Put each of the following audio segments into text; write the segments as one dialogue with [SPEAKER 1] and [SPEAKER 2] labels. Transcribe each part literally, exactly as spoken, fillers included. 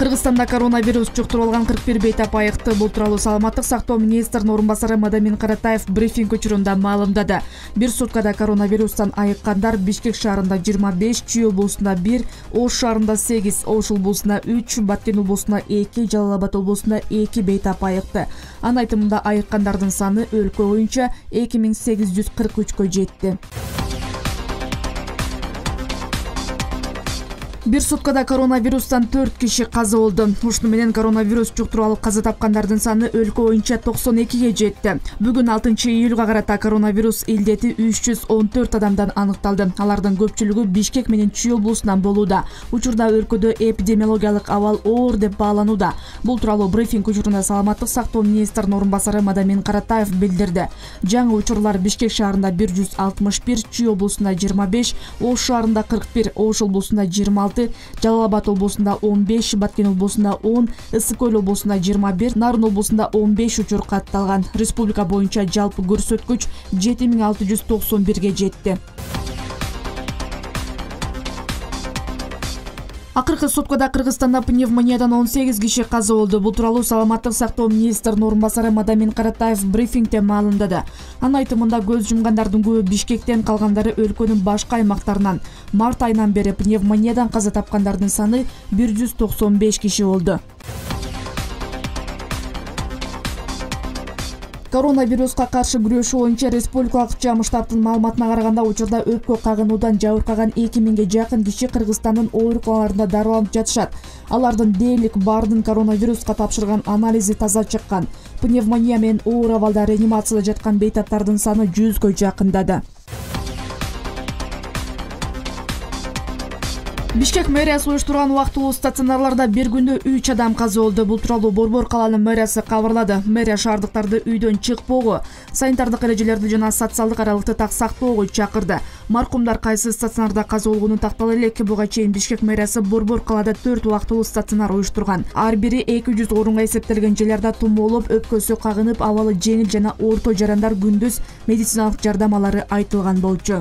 [SPEAKER 1] Кыргызстанда коронавирус жуктуруп алган кырк бир бейтап айыкты. Бул тууралуу Саламаттык сактоо министринин орун басары Мадамин Каратаев брифинг учурунда маалымдады. Бир суткада коронавирустан айыккандар Бишкек шаарында жыйырма беш, Чүй облусунда бир, Ош шаарында сегиз, Ош облусунда үч, Баткен облусунда эки, Жалал Абад облусунда эки бейтап айыкты. Анын айтымында айыккандардын саны өлкө боюнча эки миң сегиз жүз кырк үчкө жетти. Бир суткада коронавирустан төрт киши каза болду. Ушуну менен коронавирус жуктуруп алып каза тапкандардын саны өлкө боюнча токсон экиге жетти. Бүгүн алтынчы июлга карата коронавирус илдети үч жүз он төрт адамдан аныкталды. Алардын көпчүлүгү Бишкек менен Чүй облусунан болууда. Учурда өлкөдө эпидемиологиялык абал оор деп бааланууда. Бул тууралуу брифинг учурунда Саламаттык сактоо министринин орун басары Мадамин Каратаев билдирди. Жаңы учурлар Бишкек шаарында бир жүз алтымыш бир, Чүй облусунда жыйырма беш, Ош шаарында кырк бир, Ош облусунда жыйырма алты, Жалал Абад облусунда он беш, Баткен облусунда он, Ысык Көл облусунда жыйырма бир, Нарын облусунда он беш учур катталган. Республика боюнча жалпы көрсөткүч жети миң алты жүз токсон бирге жетти. Акыркы суткада Кыргызстанда пневмониядан он сегиз киши каза болду. Бул тууралуу Саламаттык сактоо министринин орун басары Мадамин Каратаев брифингде маалымдады. Анын айтымында көз жумгандардын көбү Бишкектен, калгандары өлкөнүн башка аймактарынан. Март айынан бери пневмониядан каза тапкандардын саны бир жүз токсон беш киши болду. Коронавируска каршы күрөшүү боюнча республикалык жам штабтын маалыматына караганда учурда өпкө кагынуудан жабыркаган эки миңге жакын киши Кыргызстандын ооруканаларында дарыланып жатышат. Алардын дээрлик баардын коронавируска тапшырган анализи таза чыккан. Пневмония менен оор абалда реанимацияда жаткан бейтаптардын саны жүзгө жакындады. Бишкек мэриясы уюштурган убактылуу стационарларда бир күндө үч адам каза болду. Бул тууралуу Борбор калаанын мэриясы кабарлады. Мэрия шаардыктарды үйдөн чыкпоого, санитардык эрежелерди жана социалдык аралыкты так сактоого чакырды. Маркумдар кайсы стационарда каза болгону тактала элек. Буга чейин Бишкек мэриясы Борбор калаада төрт убактылуу стационар уюштурган. Ар бири эки жүз орунга эсептелген жерлерде тумоолоп, өпкөсү кагынып, абалы жеңил жана орто жарандар күндүз медициналык жардам алары айтылган болчу.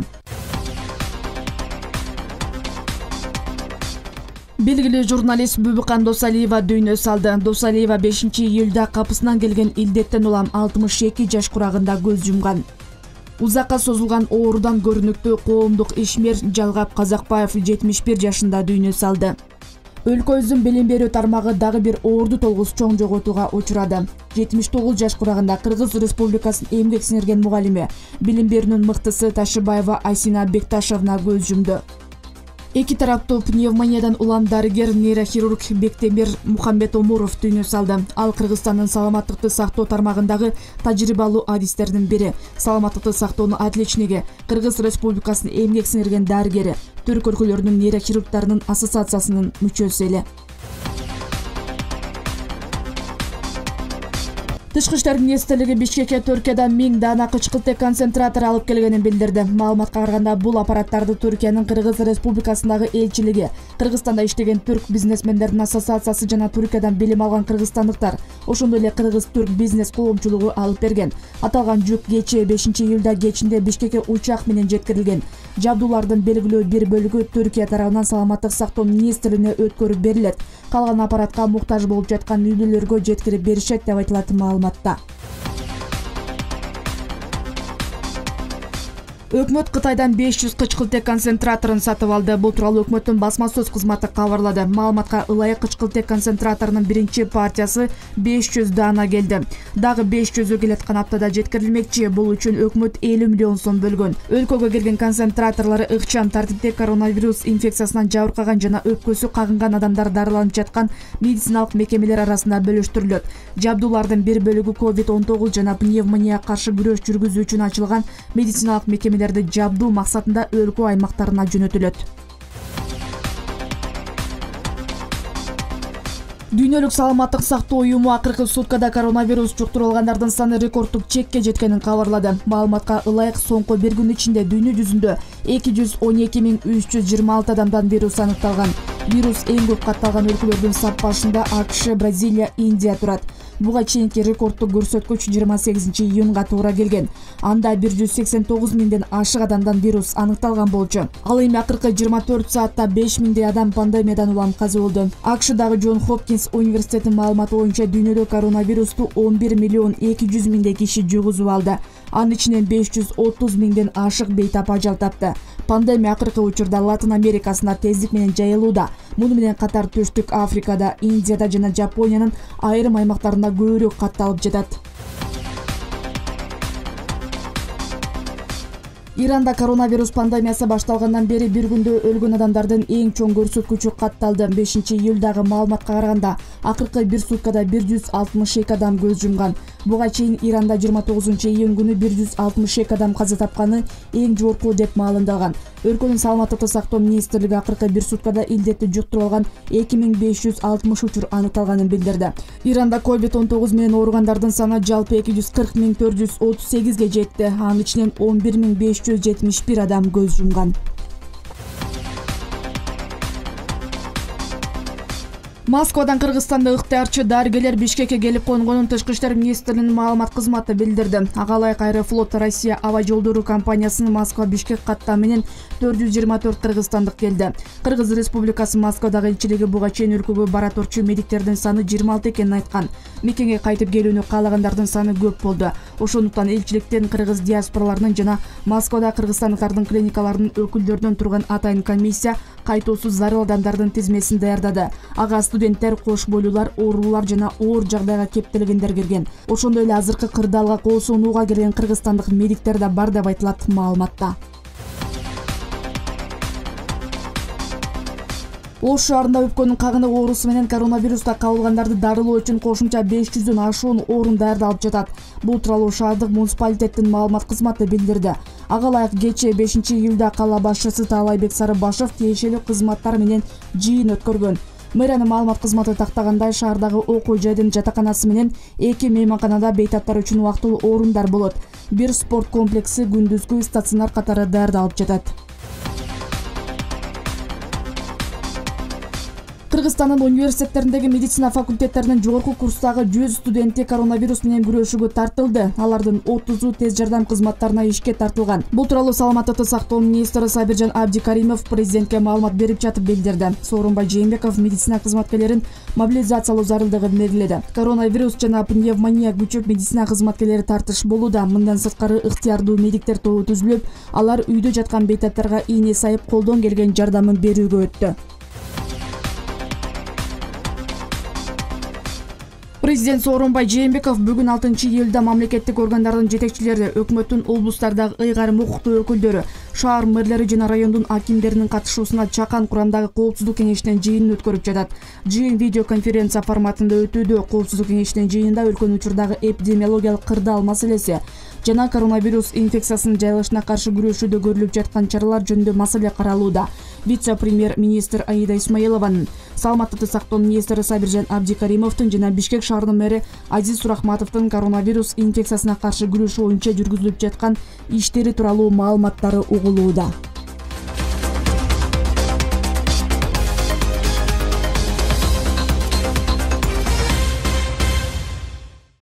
[SPEAKER 1] Белгилүү журналист Бүбүкан Досалиева дүйнө салды. Досалиева бешинчи июлда капысынан келген илдеттен улам алтымыш эки жаш курагында көз жумган. Узакка созулган оорудан көрүнүктүү коомдук ишмер Жалгап Казакбаев жетимиш бир жашында дүйнө салды. Өлкөбүздүн билим берүү тармагы дагы бир оорду толгус чоң жоготууга учурады. жетимиш тогуз жаш курагында Кыргыз Республикасынын эмгек сиңирген мугалими, билим берүүнүн мыктысы Ташыбаева Айсина Бекташевна көз жумду. Эки тараптуу пневмониядан улам дарыгер нейрохирург Бектемир Мухамбет Омуров дүйнө салды. Ал Кыргызстандын саламаттыкты сактоо тармагындагы тажрыйбалуу адистердин бири. Саламаттыкты сактоонун отличниги, Кыргыз Республикасынын эмгек сиңирген дарыгери, Түрк өлкөлөрүнүн нейрохирургтарынын ассоциациясынын мүчөсү эле. Тышкы иштер министрлиги Бишкекке Түркиядан миң даана кычкылтек концентратор алып келгенин билдирди. Маалыматка караганда бул аппараттарды Түркиянын Кыргыз Республикасындагы элчилиги, Кыргызстанда иштеген түрк бизнесмендердин ассоциациясы жана Түркиядан билим алган кыргызстандыктар, ошондой эле кыргыз-түрк бизнес коомчулугу алып берген. Аталган жүк кечээ бешинчи июлда кечинде Бишкекке учак менен жеткирилген. Жабдуулардын белгилүү бир бөлүгү Түркия тарабынан саламаттык сактоо министрлигине өткөрүп берилет. Калган аппаратка муктаж болуп жаткан үйлөргө жеткирип беришет деп айтылат маалыматта. Өкмөт Кытайдан беш жүз кычкылтек концентраторун сатып алды. Бул тууралуу өкмөттүн басма сөз кызматы кабарлады. Маалыматка ылайык кычкылтек концентраторунун биринчи партиясы беш жүз даана келди. Дагы беш жүзү келаткан аптада жеткирилмекчи. Бул үчүн өкмөт элүү миллион сом бөлгөн. Өлкөгө келген концентраторлору ыкчам тартипте коронавирус инфекциясынан жабыркаган жана өпкөсү кагынган адамдар дарыланып жаткан медициналык мекемелер арасында бөлүштүрүлөт. Жабдуулардын бир бөлүгү ковид он тогуз жана пневмонияга каршы күрөш жүргүзүү үчүн ачылган медициналык мекемелер жабдуу максатында өлкө аймактарына жөнөтүлөт. Дүйнөлүк саламаттык сактоо уюму акыркы суткада коронавирус жуктуруп алгандардын саны рекордтук чекке жеткенин кабарлады. Маалыматка ылайык соңку бир күн ичинде дүйнө жүзүндө эки жүз он эки миң үч жүз жыйырма алты адамдан вирус аныкталган. Вирус эң көп катталган өлкөлөрдүн саппашында АКШ, Бразилия, Индия турат. Буга чейинки рекордтук көрсөткүч жыйырма сегизинчи июнга туура келген. Анда бир жүз сексен тогуз миңден ашык адамдан вирус аныкталган болчу. Ал эми акыркы жыйырма төрт саатта беш миңдей адам пандемиядан улам каза болду. АКШдагы Джон Хопкинс университетинин маалыматы боюнча дүйнөдө коронавирусту он бир миллион эки жүз миңдей киши жугузуп алды. Анын ичинен беш жүз отуз миңден ашык бейтап ажал тапты. Пандемия акыркы учурда Латын Америкасында тездик менен жайылууда. Муну менен катар Түштүк Африкада, Индияда жана Жапониянын айрым аймактарында көбүрөөк катталып жатат. Иранда коронавирус пандемиясы башталгандан бери бир күндө өлгөн адамдардын эң чоң көрсөткүчү катталды. бешинчи июлдагы маалыматка караганда акыркы бир суткада бир жүз алтымыш эки адам көз жумган. Буга чейин Иранда жыйырма тогузунчу июнь күнү бир жүз алтымыш эки адам каза тапканы эң жогорку деп маалымдалган. Өлкөнүн саламаттыкты сактоо министрлиги акыркы бир суткада илдетти жуктуруп алган эки миң беш жүз алтымыш учур аныкталганын билдирди. Иранда ковид он тогуз менен ооругандардын саны жалпы эки жүз кырк миң төрт жүз отуз сегизге жетти. Анын ичинен он бир миң беш жүз жетимиш бир адам көз жумган. Москвадан Кыргызстанда ыктыярчы дарыгерлер Бишкекке келип конгонун Тышкы иштер министрлигинин маалымат кызматы билдирди. Ага ылайык Аэрофлот Россия аба жолдору компаниясынын Москва-Бишкек каттам менен төрт жүз жыйырма төрт кыргызстандык келди. Кыргыз Республикасы Москвадагы элчилиги буга чейин өлкөгө бара турчу медиктердин саны жыйырма алты экенин айткан. Мекенге кайтып келүүнү каалагандардын саны көп болду. Ошондуктан элчиликтен кыргыз диаспораларынын жана Москвада кыргызстандыктардын клиникаларынын өкүлдөрүнөн турган атайын комиссия кайтуусуз зарыл адамдардын тизмесин даярдады. Ага студенттер, кош бойлуулар, оорулар жана оор жагдайга кептелгендер кирген. Ошондой эле азыркы кырдаалга кол сунууга келген кыргызстандык медиктер да бар деп айтылат маалыматта. Ош шаарында өпкөнүн кагыныг оорусу менен коронавируста кабылгандарды дарылоо үчүн кошумча беш жүздөн ашуун орун даярдалып жатат. Бул тууралуу шаардык муниципалитеттин маалымат кызматы билдирди. Ага ылайык кечээ бешинчи июлда кала башчысы Таалайбек Сарыбашев тиешелүү кызматтар менен жыйын өткөргөн. Мэриянын маалымат кызматы тактагандай, шаардагы окуу жайдын жатаканасы менен эки мейманканада бейтаптар үчүн убактылуу орундар болот. Бир спорт комплекси күндүзгү стационар катары даярдалып жатат. Кыргызстандын университеттериндеги медицина факультеттеринин жогорку курстагы жүз студенти коронавирус менен күрөшүүгө тартылды. Алардын отузу тез жардам кызматтарына ишке тартылган. Бул тууралуу саламаттыкты сактоо министри Сабиржан Абдикаримов президентке маалымат берип жатып билдирди. Сооронбай Жээнбеков медицина кызматкерлерин мобилизациялоо зарылдыгын мегиледи. Коронавирус жана пневмония күчөп медицина кызматкерлери тартыш болууда. Мындан сырткары ыктыярдуу медиктер тобу түзүлүп, алар үйдө жаткан бейтаптарга ийне сайып колдон келген жардамын берүүгө өттү. Президент Сооронбай Жээнбеков бүгүн алтынчы июлда мамлекеттик органдардын жетекчилери, өкмөттүн облустардагы ыйгарым укуктуу өкүлдөрү, шаар мэрлери жана райондун акимдеринин катышуусуна чакан курамдагы коопсуздук кеңешинин жыйынын өткөрүп жатат. Жыйын видеоконференция форматында өтүүдө. Коопсуздук кеңешинин жыйынында өлкөнүн учурдагы эпидемиологиялык кырдаал маселеси жана коронавирус инфекциясынын жайылышына каршы күрөшүүдө көрүлүп жаткан чаралар жөнүндө маселе каралууда. Вице-премьер-министр Аида Исмаилованын, саламаттыкты сактоо министри Сабиржан Абдикаримовдун жана Бишкек шаарынын мэри Азиз Сурахматовдун коронавирус инфекциясына каршы күрөшүү боюнча жүргүзүлүп жаткан иштери тууралуу маалыматтары угулууда.